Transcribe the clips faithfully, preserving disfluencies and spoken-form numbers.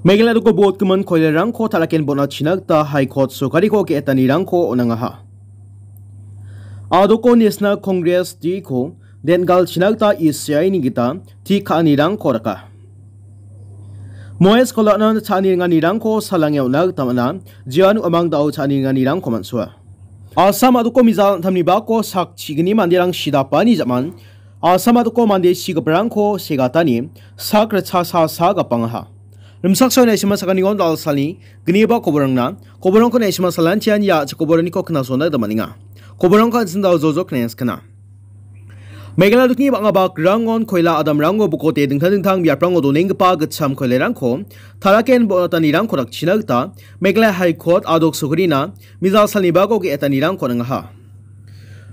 Meghalaya doko botgimin koilarangko talaken bona china gita High Court sorkariko ge·etanirangko on·angaha. Adoko National Congress D ko den·galchina gita E C I ni gita tik ka·anirangko raka. Moes Kolanan cha·ani ringanirangko salange on·na gita man·a, Jian Uamang dao cha·ani ringanirangko man·soa. Assam a·doko mizal antamni bako sak chigni manderang sidapani jaman, Assam a·doko mande sigiparangko segatani sak ritchasa sa gapangaha. Rimsak saona isima sakaniko dal·salni gniba koborangna, koborangko naisima salantian ia a·chik koboraniko knasona gita man·enga. Koborangko an·ching dal·jojok knengskana. Meghalaya dokni bang·a bakrangon koila adamrango bokote dingtang dingtang biaprango donenggipa gitcham koilarangko talaken bonatanirangko dakchina gita Meghalaya High Court adok sokrina mizal salnibako ge·etanirangko on·angaha.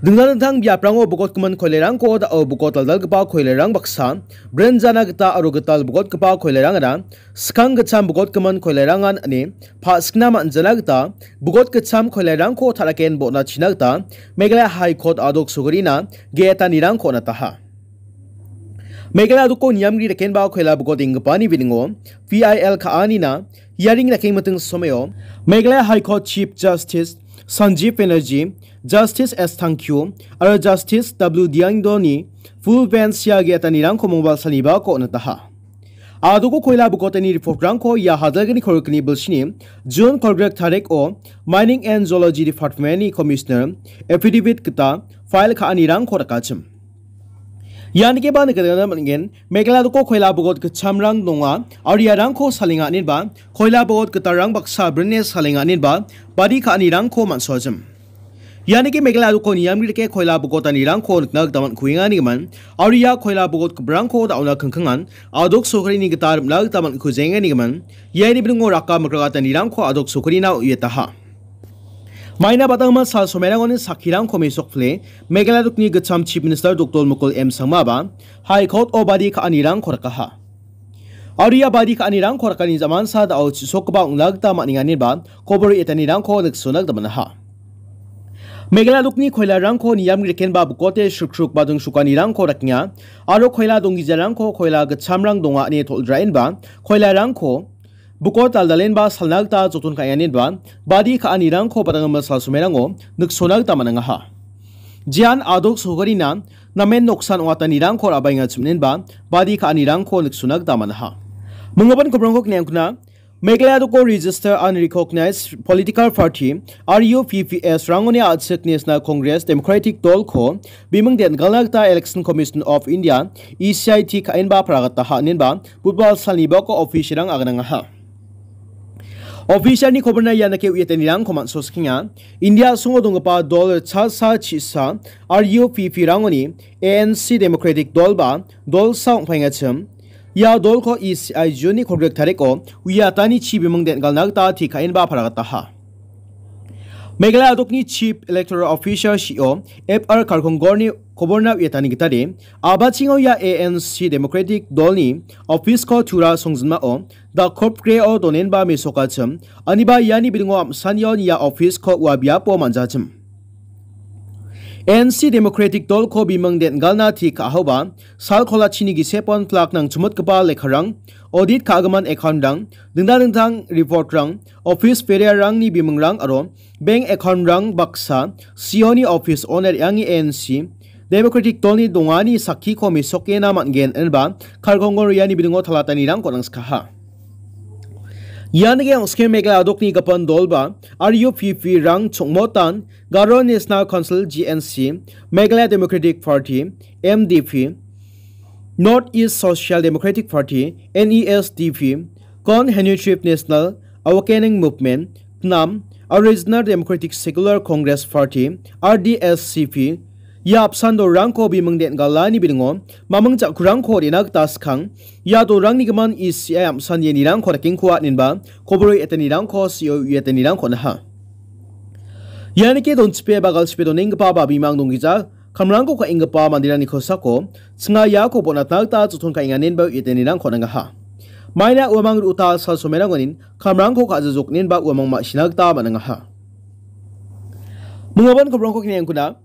Dingtang dingtang biaprango bokotgimin koilarangko da·o bokot daldalgipa koilarang baksa, brin jana gita aro gital bokotgipa koilarangara skang gitcham bokotgimin koilarangan ine pa·sikna man·jana gita bokot gitcham koilarangko talaken bona china gita Meghalaya High Court adok sokrina ge·etanirangko on·ataha. Meghalaya doko niamgri rekenba koila bokot inggipani bilingo P I L ka·anina hearing rakengmiting someo Meghalaya High Court Chief Justice Sanjeev Banerjee, Justice S Thangkhiew aro Justice W Dyangdoni full bench ia ge·etanirangko mongbalsalnibako on·ataha. Adoko koila bokotani report-rangko ia hajalgni kolgrikni bilsini June kolgrik tariko Mining and Geology Department-ni Commissioner affidavit gita file ka·anirangko rakachim. Ianike ba nikatna man·gen, Meghalaya doko koila bogot gitchamrang donga, aro iarangko salenga inenba, koila bogot gitarrang baksa brine salenga inenba, badi ka·anirangko man·soajim. Ianike Meghalaya doko niamri dake koila bogotanirangko nikna gita man·kuenga nigimin, aro ia koila bogot giprangko da·ona kingkingan, adok sorkarini gita rim·na gita man·kujenge nigimin, iani bringo raka mikratanirangko adok sorkarina uietaha. Maina badangma sal somerangoni sakkirangko mesokpile, Meghalaya dokni gitcham Chief Minister Doktor Mukul M Sangmaba High Court-o badi ka·anirangko rakaha. Aro ia badi ka·anirangko rakani jamansa da·o chisokgipa ong·na gita man·enga ineba kobor etanirangko niksona gita man·aha. Meghalaya dokni koilarangko niam grekenba bukote srukruk badung sukanirangko rakenga, aro koila donggijarangko koila gitchamrang donga ine tol·draenba koilarangko bukot daldalenba salna gita joton ka·enganenba badi ka·anirangko badanggimin sal somerango niksona gita man·angaha. Jean adok sorkarina namen noksan ong·atanirangko ra·baengachimnenba badi ka·anirangko niksona gita man·aha. Minggipan kobrangko kniangkuna Meghalaya doko Register Unrecognized Political Party, R U P P S, rangoni a·chik National Congress Democratic Dolko biming den·galna gita Election Commission of India, E C I, ka·enba paragataha inenba Budbal salnibako officerrang aganangaha. Officerni koborna ianake uiatanirangko man·soskenga. India a·songo donggipa dol ritchasa chisa R U P P rangoni A N C Democratic Dolba dolsa ong·paengachim. Ia dolko E C I June-ni kolgrek tariko uiatani chibiming den·galna gita tekaenba paragataha. Meghalaya adokni Chief Electoral Officer, C E O, F R Kharkongorni koborna uiatani gitade, abachingo ia A N C Democratic Dolni office-ko tura songjinmao dakopgreo donenba mesokachim, aniba iani bilingo am·sanion ia office-ko ua biapo man·jachim. A N C Democratic Dolko biming den·galna tekahaoba, sal kolachini gisepon plak nangchimotgipa lekkarang, audit ka·gimin account-rang, dingtang dingtang report-rang, office bearerrangni bimingrang aro bank account-rang baksa C E O-ni office owner iangi A N C Democratic Dolni dongani sakkiko mesokena man·gen ineba Kharkongor iani bilingo talatanirangko nangskaha. Ian ong·sken Meghalaya adokni gipin dolba R U P P rang chongmotan Garo National Council, G N C, Meghalaya Democratic Party, M D P, North East Social Democratic Party, N E S D P, Konservative National Awakening Movement, KNAM, aro Regional Democratic Secular Congress Party, R D S C P, ia apsan dolrangko biming den·galani bilingo maming ja·kurangko re·na gita skang, ia dolrangni gimin E C I am·san ianirangko rakengkoa inenba kobor etanirangko C E O uiatanirangko on·aha. Ianike donchipe ba galchipe donenggipa ba bimang donggija kamrangko ka·enggipa manderangni kosako chinga iako bonatna gita joton ka·enganenba uiatanirangko on·angaha. Maina uamang ru·ota sal somerangonin kamrangko ka·jajoknenba uamang ma·sina gita man·angaha. Minggipan kobrangko kniengkuna,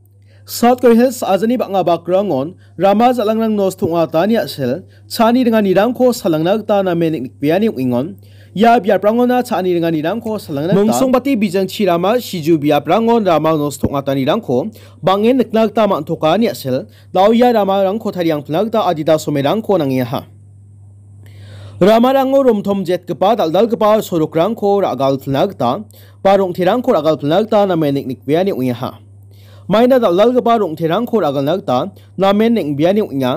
South Garo Hills a·jani bang·a bakrangon rama jal·angrang nosto ong·atani a·sel, cha·ani ringanirangko salangna gita namen niknikbeani ong·engon. Ia biaprangona cha·ani ringanirangko salangna gita Mungsongbati bijangchi rama siju biaprangon rama nosto ong·atanirangko bang·en nikna gita man·toka ine a·sel, dao ia ramarangko tariangpilna gita adita somerangko nangengaha. Ramarango romtom jetgipa dal·dalgipa sorokrangko ra·galpilna gita ba rong·terangko ra·galpilna gita namen nik-, nikbeani ong·engaha. Maina dal·dalgipa rong·terangko ra·galna gita namen neng·beani ong·enga.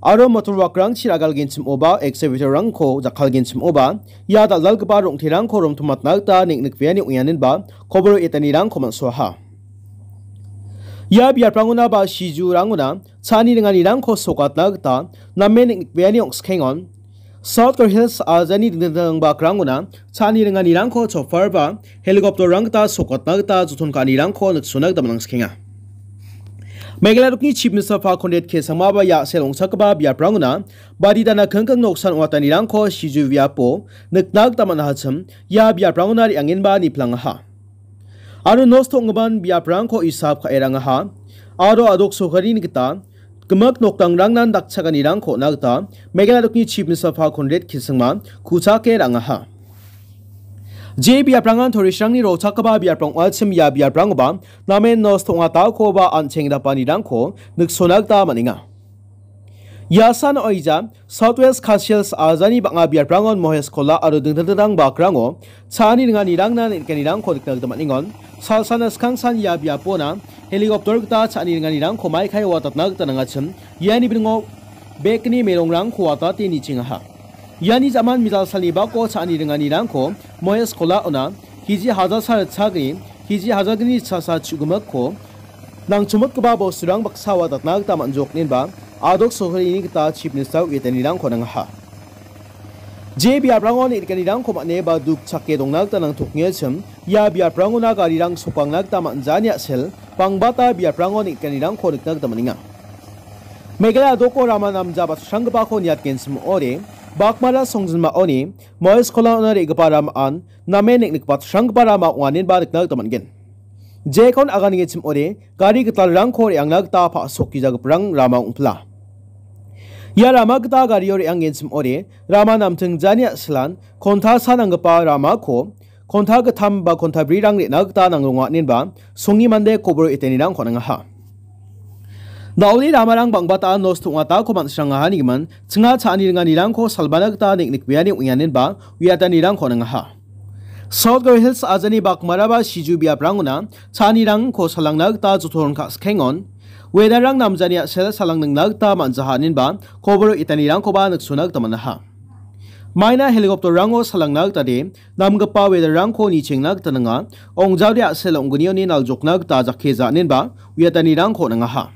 Aro motor wakrangchi ra·galgenchimoba, excavator-rangko jakkalgenchimoba, ia dal·dalgipa rong·terangko romtomatna gita neng·nikbeani ong·enganinba koboro etanirangko man·soaha. Ia biaprangona ba sijurangona cha·ani ringanirangko sokatna gita namen neng·nikbeani ong·skengon. South Garo Hills ajani dingtang dingtang bakrangona cha·ani ringanirangko chopper ba helicopter-rang gita sokatna gita joton ka·anirangko niksona gita man·skenga. Meghalaya dokni Chief Minister Pha Conrad K Sangma ba ia a·sel ong·chakgipa biaprangona bari dana kingking noksan ong·atanirangko siju biapo nikna gita man·ahachim ia biaprangona re·angenba niplangaha. Aro nosto ong·gipan biaprangko isap ka·e rangaha. Aro a·dok sorkarini gita gimik nokdangrangnan dakchakanirangko on·a gita Meghalaya dokni Chief Minister Pha Conrad K Sangma kuchake rangaha. Je biaprangan tourist-rangni rochakgipa biaprang ong·achim ia biaprangoba namen nosto ong·atakoba an·cheng dapanirangko niksona gita man·enga. Ia san oija South West Khasi Hills ajani bang·a biaprangon Mohesh Khola aro dingtang dingtang bakrango cha·ani ringanirangna neng·nikanirangko nikna gita man·engon. Salsana skangsan ia biapona helicopter gita cha·ani ringanirangko maikaio watatna gita nangachim. Iani bringo bekni merongrangko watate nichengaha. Iani jaman mijal salni bako cha·ani ringanirangko Mohesh Khola-ona kg hajalsa ritchagni, kg hajalgni ritchasa chu·gimikko nangchomotgipa bosturang baksa watatna gita man·joknenba a·dok sorkarini gita Chief Minister uiatanirangko nangaha. Je biaprango neng·nikanirangko man·e ba duk chake dongna gita nangtokengachim, ia biaprangona garirang sokangna gita man·jani a·sel, bangbata biaprango neng·nikanirangko nikna gita man·enga. Meghalaya a·doko rama namja batsranggipako niatgenchim ong·ode, Bakmara songjinmaoni Mohesh Khola-ona re·gipa ramaan namen neng·nikbatsranggipa rama ong·anenba nikna gita man·gen. Jekon aganengechim ong·ode, gari gitalrangko re·angna gita pa·sokgijagiprang rama ong·pila. Ia rama gita gario re·angenchim ong·ode, rama namtingjani a·silan konta sa nanggipa ramako konta gittam ba konta brirang re·na gita nangronga ong·anenba songi mande koboro etanirangko nangaha. Da·ode ramarang bangbata nosto ong·atako man·srangaha nigimin, chinga cha·ani ringanirangko salbana gita neng·nikbeani ong·enganenba uiatanirangko nangaha. South Garo Hills ajani bakmaraba siju biaprangona cha·anirangko salangna gita joton ka·skengon, weather-rang namjani a·sel salang ningna gita man·jaha inenba koboro etanirangkoba niksona gita man·aha. Maina helicopter-rango salangna gita de, namgipa weather-rangko nichengna gita nanga, ong·jaode a·sel ong·gnioni naljokna gita jakkeja inenba uiatanirangko nangaha.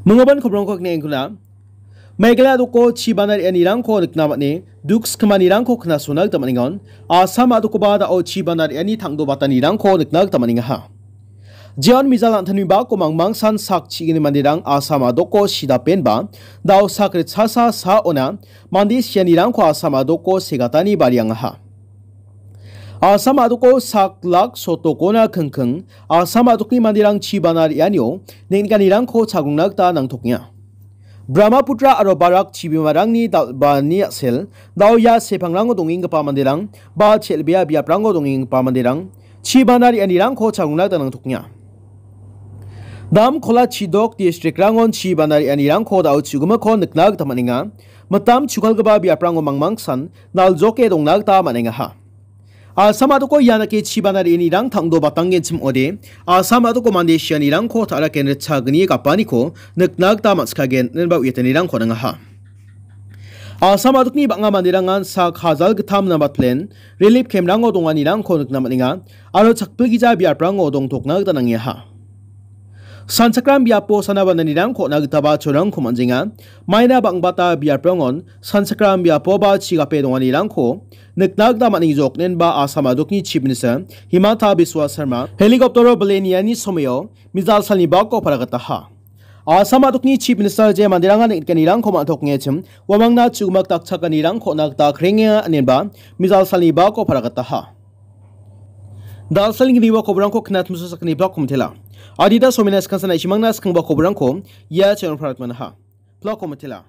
Minggipa kobrongko kne engkuna. Meghalaya a·doko chi bana re·anirangko nikna man·e, duk skimanirangko knasona gita man·engon. Assam a·dokoba da·o chi bana re·ani tangdobatanirangko nikna gita man·engaha. Jeon mijal an·tangni bako mangmangsan sak chigni manderang Assam a·doko sidapenba, da·o sak ritchasa saona mande sianirangko Assam a·doko segatani bariangaha. Assam a·doko sak lak sotokona kingking, Assam a·dokni manderang chi bana re·anio neng·nikanirangko chagrongna gita nangtokenga. Brahmaputra aro Barak chibimarangni dal·bani a·sel, da·o ia sepangrango dongenggipa manderang, ba chel·bea biaprango dongenggipa manderang, chi bana re·anirangko chagrongna gita nangtokenga. Dam Kola Chidok district-rangon chi bana re·anirangko da·o chu·gimikko nikna gita man·enga. Mitam chukalgipa biaprango mangmangsan naljoke dongna gita man·engaha. Assam a·doko ianake chi bana re·anirang tangdo batanggenchim ong·ode, Assam a·doko mande sianirangko ta·raken ritchagni gapaniko nikna gita man·sikagen, inenba uiatanirangko nangaha. Assam a·dokni bang·a manderangan sak hajal gittam nambatplen relief camp-rango donganirangko nikna man·enga, aro chakpilgija biaprango dongtokna gita nangengaha. Sanchakram biapo sana bananirangko on·a gitaba cholrangko man·jenga. Maina bang·bata biaprangon sanchakram biapoba chigape donganirangko nikna gita man·engjok, inenba Assam a·dokni Chief Minister Himanta Biswa Sarma helicopter-o bile niani somoio mijal salni bako paragataha. Assam a·dokni Chief Minister je manderangan neng·nikanirangko man·tokengachim, uamangna chu·gimik dakchakanirangko on·a gita krengenga, inenba mijal salni bako paragataha. Dalsalni gniwa kobrangko knatmso sakni blog komitela. Adita somina skangsa na·simangna skangba kobrangko ia channel parat manaha. Blog komitela.